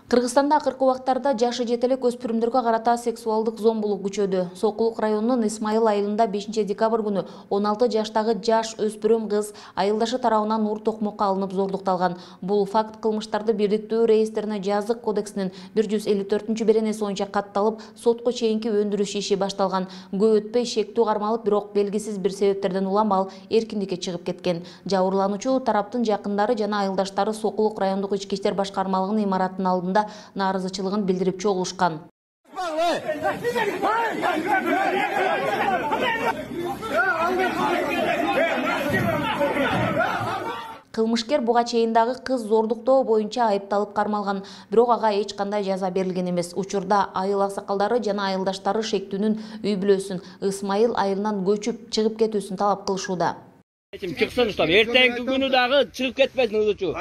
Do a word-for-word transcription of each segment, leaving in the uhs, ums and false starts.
Кыргызстанда акыркы убактарда жашы жете элек өспүрүмдөргө карата сексуалдык зомбулук күчөдү. Сокулук районунун Исмайыл айылында бешинчи декабрь күнү он алты жаштагы жаш өспүрүм кыз айылдашы тарабынан уур токмокко алынып зордукталган. Бул факт кылмыштарды бирдиктүү реестрине жазык кодексинин бир жүз элүү төртүнчү беренеси боюнча катталып, сотко чейинки өндүрүш иши башталган. Көп өтпөй шектүү кармалып, бирок белгисиз бир себептерден уламал эркиндикке чыгып кеткен. Жабырлануучу тараптын жакындары жана айылдаштары Сокулук райондук ички иштер башкармалыгынын имаратынын алдында нааразычылыгын билдирип чогулушкан. Кылмышкер буга чейин дагы кыз зордуктоо боюнча айыпталып кармалган, бирок ага эч кандай жаза берилген эмес. Учурда айыл аксакалдары жана айылдаштары шектүүнүн үй бүлөсүн Исмайыл айылынан көчүп чыгып кетүүсүн талап кылышууда. Чыксын уштап, эртеңки күнү дагы чыгып кетпесин ызычу.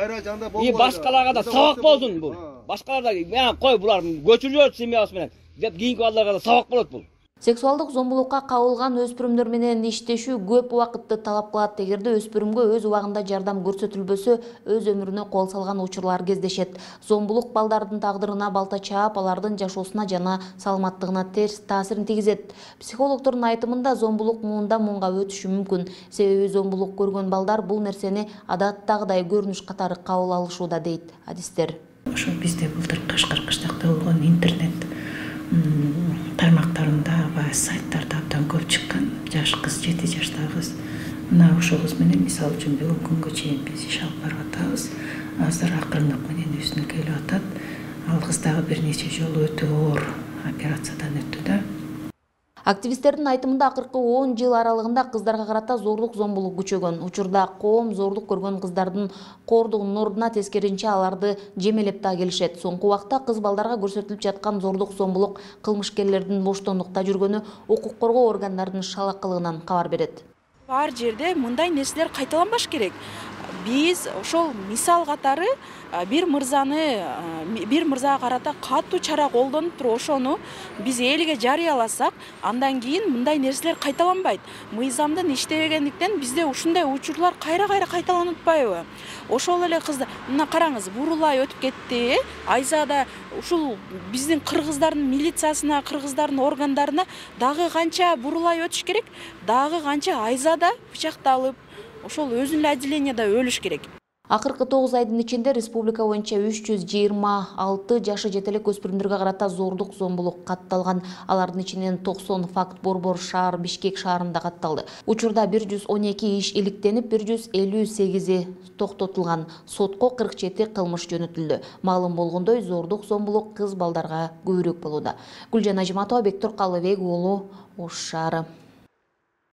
И башкаларга да сабак болсун бул. Башкалар да мен кой булар көчүрүп семьябыз менен деп кийинки балдарга да сабак болот бул. Сексуалдык зомбулукка кабылган өспүрүмдөр менен иштешүү көп убакытты талап кылат. Эгерде өспүрүмгө өз убагында жардам көрсөтүлбөсө, өз өмүрүнө кол салган учурлар кездешет. Зомбулук балдардын тагдырына балта чаап, алардын жашоосуна жана саламаттыгына терс таасирин тийгизет. Психологдордун айтымында зомбулук муундан муунга өтүшү мүмкүн. Себеби зомбулук көргөн балдар бул нерсени адаттагыдай көрүнүш катары кабыл алышууда, дейт адистер. Ошо бизде былтыр Кашкар кыштакта болгон интернет тармактарында ба сайттарда абдан көп чыккан жаш кыз, жети жаштагы кыз. Мына ошол кыз менен мисалы үчүн бүгүнкү күнгө чейин биз иш алып барып атабыз. Азыр акырындык менен үстүнө келип атат. Ал кыз дагы бир нече жолу өтө оор операциядан өттү да. Активисттердин айтымында акыркы он жыл аралыгында кыздарга карата зордук зомбулук күчөгөн. Учурда коом зордук көргөн кыздардын коордугунун ордуна тескеринче аларды жемелеп да келишет. Соңку убакта кыз балдарга көрсөтүлүп жаткан зордук зомбулук кылмышкерлердин боштондукта жүргөнү укук коргоо органдарынын шалакылыгынан кабар берет. Бар жерде мындай нерселер кайталанбаш керек. Биз ошол мисал катары бир мырзаны бир мырзага карата катуу чара колдонуп туруп ошону биз элге жарыяласак, андан кийин мындай нерселер кайталанбайт. Мыйзамдын иштебегендиктен бизде ушундай учурлар кайра-кайра кайталанып атпайбы? Ошол эле кыздар, мына караңыз, бурулай өтүп кетти. Айзада ушул биздин кыргыздардын милициясына, кыргыздардын органдарына дагы канча бурулай өтүш керек, дагы канча айзада бычакталып, ошол өзүн эле отделенияда өлүш керек. Акыркы тогуз айдын ичинде республика боюнча үч жүз жыйырма алты жашы жете элек өспүрүмдөргө карата зордук зомбулук катталган. Алардын ичинен токсон факт Борбор шаар, Бишкек шаарында катталды. Учурда бир жүз он эки иш иликтенип, бир жүз элүү сегизи токтотулган. Сотко кырк жети кылмыш жөнөтүлдү. Маалым болгондой, зордук зомбулук кыз балдарга көбүрөөк болууда. Гүлжан Ажиматова, Бектур Калыбек уулу, Ош шаары.